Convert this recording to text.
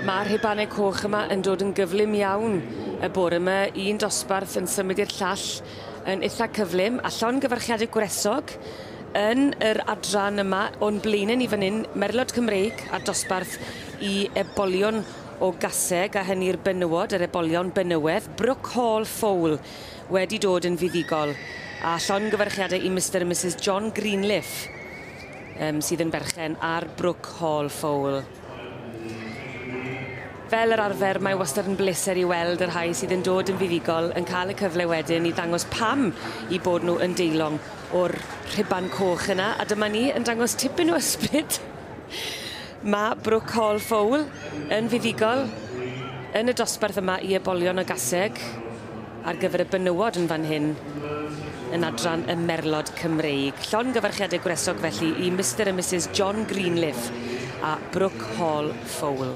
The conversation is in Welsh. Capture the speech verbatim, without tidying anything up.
Mae'r rhubanau coch yma yn dod yn gyflym iawn y bore yma. Un dosbarth yn symud i'r llall yn eitha cyflym, a llongyfarchiadau gwresog yn yr adran yma o'n blaenau ni fan hyn, Merlod Cymreig a dosbarth i ebolion o gaseg, a hynny'r benywod, yr ebolion benywedd, Brook Hall Fowl wedi dod yn fuddugol. A llongyfarchiadau i Mister a Missus John Greenleaf, um, sydd yn berchen ar Brook Hall Fowl. Fel yr arfer, mae wastad yn bleser i weld y rhai sydd yn dod yn fuddugol yn cael y cyfle wedyn i ddangos pam i bod nhw yn deilwng o'r rhuban coch yna. A dyma ni yn dangos tipyn o ysbryd. Mae Brook Hall Fowl yn fuddugol yn y dosbarth yma i ebolion o gaseg ar gyfer y benywod yn fan hyn yn adran y Merlod Cymreig. Llongyfarchiadau gwresog felly i Mister a Missus John Greenleaf a Brook Hall Fowl.